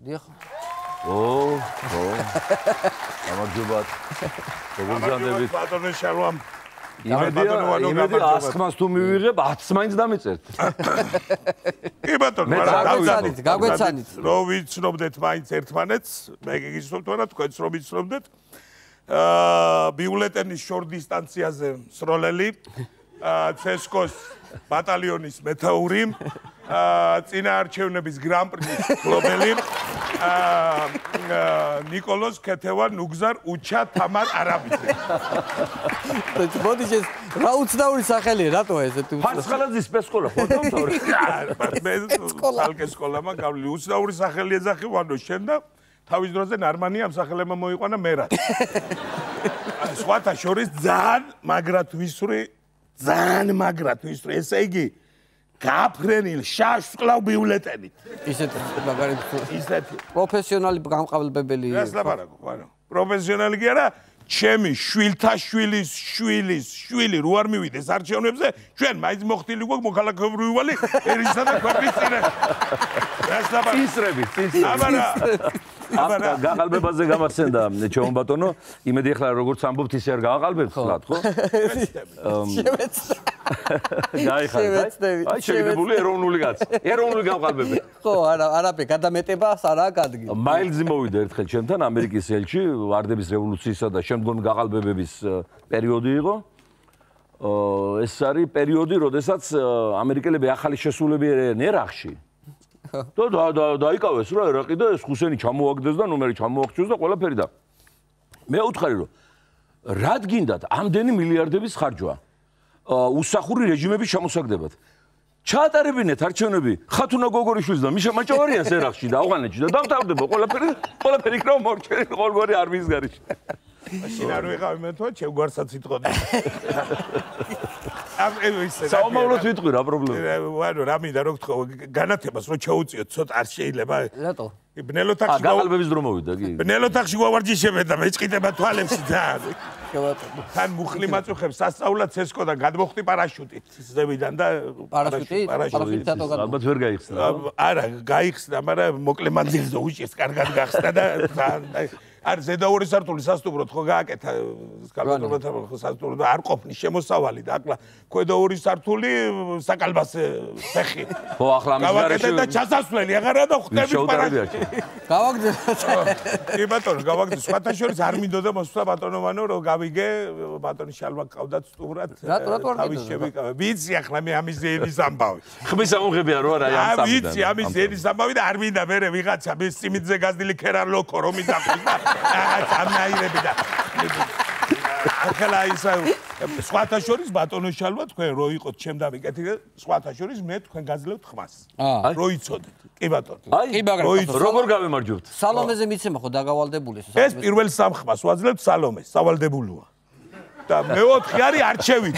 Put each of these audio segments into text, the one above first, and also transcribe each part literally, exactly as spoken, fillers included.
დიახ. ო, ო. გამარჯობათ. როგორ განდებით? ბატონო შალვამ. იმედი ასხმას თუ მივიღებ, ათს მაინც დამეწერთ. კი ბატონო, გაგვეცანით, გაგვეცანით. რო ვიცნობდეთ მაინც ერთმანეთს, მე გიგიცნობთ ვარა, თქვენც რომ ვიცნობდეთ. აა ბიულეტენის შორ დისტანციაზე მსროლელი, ცესკოს ბატალიონის მეთაური, წინაარჩევნების გრან-პრის მფლობელი, ნიკოლოზ ქეთევან ნუგზარ უჩა თამარ არაბიძე. მოდი ეს რა უცნაური სახელია, რატო ეს? ფარცხალაძის სპეცსკოლა ხო დავთორე? მე ალკე სკოლა მაგავლი უცნაური სახელი ეძახი ვანო შენ და თავის დროზე ნარმანი ამ სახელებმა მოიყვანა მერად. სხვათა შორის ძალიან მაგრად ვისვრი, ძალიან მაგრად ვისვრი, ესე იგი გაფრენილ შაშს კლავ ბიულეტენით. ისეთი მაგარი ისეთი პროფესიონალი გამყალბებელი. ეს ლაპარაკო, ანუ პროფესიონალი კი არა, ჩემი შვილთა შვილის შვილის შვილი რო არ მივიდეს არჩევნებზე, ჩვენ მაინც მოხდილი გვაქვს მოქალაქეობრივი ვალი ერისა და ქვეყნის წინაშე. ეს ლაპარაკო. წისრები, წისრები. აბარა გაყალბებაზე გამახსენდა ჩემო ბატონო, იმედი ახლა როგორც ამბობთ ისე არ გააყალბებთ ხლად, ხო? შევეცდა. გაიხარდა. აი შეგდებული ეროვნული კაცი. ეროვნული გამყალბები. ხო, არა, არაფერი, გადამეტებას არაა გადგი. მაილზი მოვიდა ერთხელ ჩემთან ამერიკის ელჩი, ვარდების რევოლუციისა და შემდგომი გაყალბებების პერიოდი იყო. ეს არის პერიოდი, როდესაც ამერიკელები ახალი შესულები ერენენ ერაყში. და დაიკავეს რა ერაყი და ეს ხუსენი ჩამოაგდეს და ნომერი ჩამოაღწიოს და ყველაფერი და მე ვუთხარი რომ რად გინდათ ამდენი მილიარდების ხარჯვა უსახური რეჟიმების ჩამოსაგდებად ჩაატარებინეთ არჩევნები ხათუნა გოგორიშვილის და მიშა მაჭავარიანს ერაყში და ავღანეთში და დამთავრდება ყველაფერი ყველაფერი იქნება მორჩენილი ყოველგვარი არმიის გარეშე მაშინ არ ვიყავი მე თქო ჩემგვარსაც იტყოდი საომავლოდ ვიტყვი რა პრობლემა ვარო რა მინდა რო გთხოვ განათებას რო ჩაუწიოთ ცოტა არ შეიძლება რატო ბნელოთახში გაყალბების დრო მოვიდა კი ბნელოთახში გავარჯიშებენ და მეჭყიდება თვალებში ძალიან თან მუხლი მაწუხებს სასწაულად ცესკოდან გადმოხტი პარაშუტით ზევიდან და პარაშუტი პარაშუტითო გადმო ალბათ ვერ გაიხსნა არა გაიხსნა მაგრამ მოკლე მანძილზე უჭირს კარგად გახსნა და არ ზედაური სართული სასტუმროდ ხო გააკეთა სკალატოროთა ხო სასტუმრო და არ ყოფნის შემოსავალი და ახლა ქვედა ორი სართული საკალბასე ფეხი ხო ახლა ამის გავაკეთე და ჩასასვლელი აღარა და ხვდები პარაშუტი გავაგდე კი ბატონო გავაგდე სხვათა შორის არ მინდოდა მოსვლა ბატონოვანო რომ გავიგე ბატონი შალვა ყავდათ სტუმრად რატო რატო არ თავის შევიკავე ვიცი ახლა მე ამის ენის ამბავი ხმის ამღებია რო არა ამ სამიდან ვიცი ამის ენის ამბავი და არ მინდა მე ვიღაცა მის სიმიძე გაზდილი ქერალოკო რომ იზახოს და რაღაც ამნაირები და ახლა ისა სხვათა შორის ბატონო შალვა თქვენ რო იყოთ ჩემ დავიკეთე სხვათა შორის მე თქვენ გაძლევთ ხმას რო იცოდეთ კი ბატონო აი როგორ გავემარჯვებთ სალომეზე მიცემა ხო დაგავალდებული ეს პირველ სამ ხმას ვაძლევთ სალომეს სავალდებულოა და მეოთხე არის არჩევით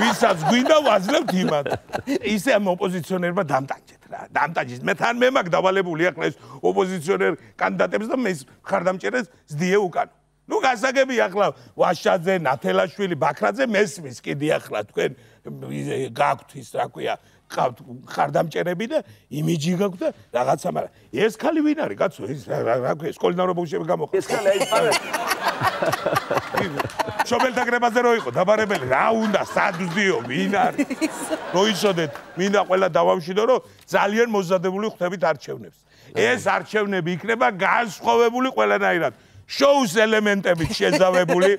ვისაც გვინდა ვაძლევთ იმად ისე ამ ოპოზიციონერმა დამტანჯეთ რა დამტანჯეთ მე თან მე მაგ დავალებული ახლა ეს ოპოზიციონერ კანდიდატებს და მე ხარდამჭერეს ზდიე უკან ნუ გასაგები ახლა ვაშაძე ნათელაშვილი ბაქრაძე მესმის კიდე ახლა თქვენ გაქვთ ის რა ქვია ყავთ ხარდამჭერები და იმიჯი გაქვთ და რაღაცა მაგრამ ეს ხალი ვინ არის კაცო ეს რა ქვია სკოლიდან რო ბავშვები გამოხდა ეს ხალი აი შობელთა გრებაზე რო იყო დაბარებელი რა უნდა სადვდიო ვინ არის რო იცოდეთ მინდა ყველა დავამშვიდო რომ ძალიან მოზადებული ხვდებით არჩევნებს ეს არჩევნები იქნება განსხვავებული ყველანაირად შოუს ელემენტებით შეზავებული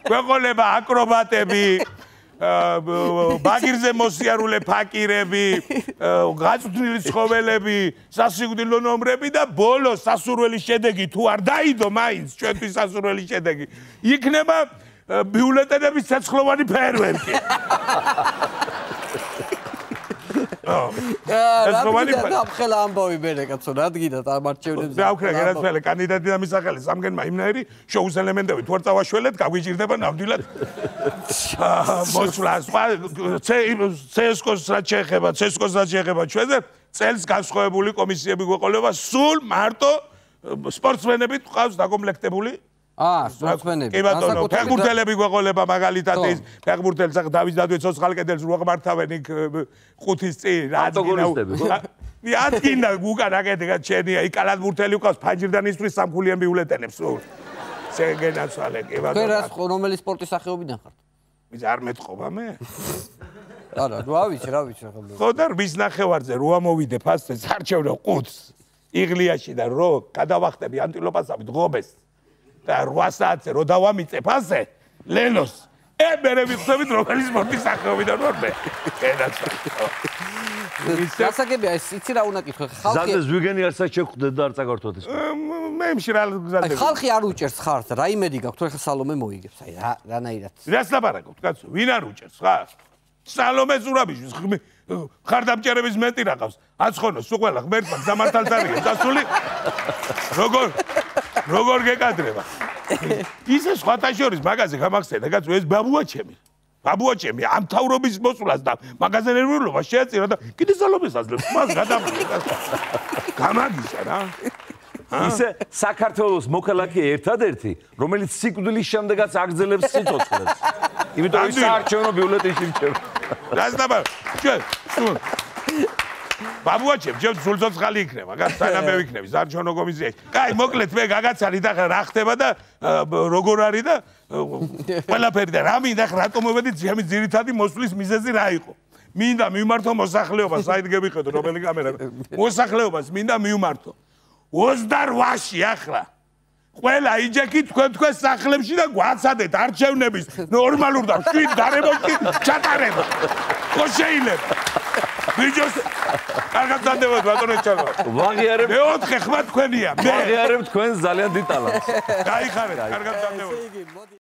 ქვეყონება აკრობატები ბაგირზე მოსიარულე ფაკირები გაწვრთნილი ცხოველები სასიკვდილო ნომრები და ბოლოს სასურველი შედეგი თუ არ დაიდო მაინც ჩვენთვის სასურველი შედეგი იქნება ბიულეტენების ცეცხლოვანი ფეერვერკი ეს რომანი დამხელა ამბავი მერე კაცო რა დგინათ ამ არჩევნებზე დავქრა განათვალე კანდიდატი და მისახელი სამგენმა იმნაირი შოუს ელემენტები თუ არ წავაშველეთ გაგვიჭირდება ნამდვილად მოსვლა სხვა ცესკოს რაც შეეხება ცესკოს რაც შეეხება ჩვენზე წელს განსხვავებული კომისიები გვეყოლება სულ მარტო სპორტსმენები ყავს დაკომპლექტებული აა სპორტსმენები კი ბატონო ფეხბურთელები გვეყოლება მაგალითად ის ფეხბურთელს ახლა დავით დადვეცოს ხალკედელს რო აღმართავენ იქ ხუთის წინ რაც გინდა მიადგინა უკან აკეთე ჩენია იქ კალათბურთელი უკავს ფანჯრიდან ისვრის სამხულიან ბიულეტენებს სულ შეგენაცვალე კი ბატონო თქვენ რას რომელი სპორტის სახეობიდან ხართ? ვის არ მეტყობა მე? არა, რა ვიცი, რა ვიცი ახლა. ხო და ვის ნახევარზე რო ამოვიდე ფასზე სარჩევნო ყუთს იღლიაში და რო გადავახტები ანტილოპასავით ღობეს და რვა საათზე რო დავამიწე ფასზე ლენოს ე მე ვიხსენით რომელი სპორტის სახეობიდან ვარ მე გასაგებია ეს იცი რა უნდა კითხო ხალხი ზადეს ვიგენი არცაც შეხვდეთ და არ წაგართვათ ეს მე მშრალ გზადები ხალხი არ უჭერს ხარს რა იმედი გაქვთ თუ ეხლა სალომე მოიგებს აი რა რანაირად რას ლაპარაკობთ კაცო ვინ არ უჭერს ხარ სალომე ზურაბიშვილს ხარდამჭერების მეტი რaqავს აცხონოს სულ ყველა ღმერთმა გამართალს არიგებს დასული როგორ როგორ გეკადრება ისე სხვათა შორის მაგაზე გამახსენდა კაცო ეს ბაბუა ჩემი ბაბუა ჩემი ამ თავრობის მოსვლას და მაგაზენერულობას შეეწირა და კიდე სალომეს აძლევს მას გადამიღე გამაგისა რა ისე საქართველოს მოქალაქე ერთადერთი რომელიც სიკვდილის შემდეგაც აგრძელებს სიცოცხლეს იმიტომ ის საარჩევნო ბიულეტენში რჩება რას დაბა ჩვენ სულ ბაბუა ჩემ ჩემ სულ ცოცხალი იქნება გას სანამ მე ვიქნები საარჩევნო კომისიაში კაი მოკლედ მე გაგაცალი და რა ხდება და როგორ არის და ყველაფერი და რა მინდა რატომ მოვედი ჩემი ძირითადი მოსვლის მიზეზი რა იყო მინდა მიმართო მოსახლეობას საით გებიხედო რომელი კამერა მოსახლეობას მინდა მიმართო ოცდაოთხში ახლა ყველა იჯეკი თქვენ თქვენ სახლებში და გვაცადეთ არჩევნების ნორმალურ და შვიდ გარემოში ჩატარება ხო შეიძლება ბიჭოს კარგად დადევოთ ბატონო ჩალო ვაღიარებ მეოთხე ხმა თქვენია მე ვაღიარებ თქვენ ძალიან დიდ ტალანტს გაიხარეთ კარგად დადევოთ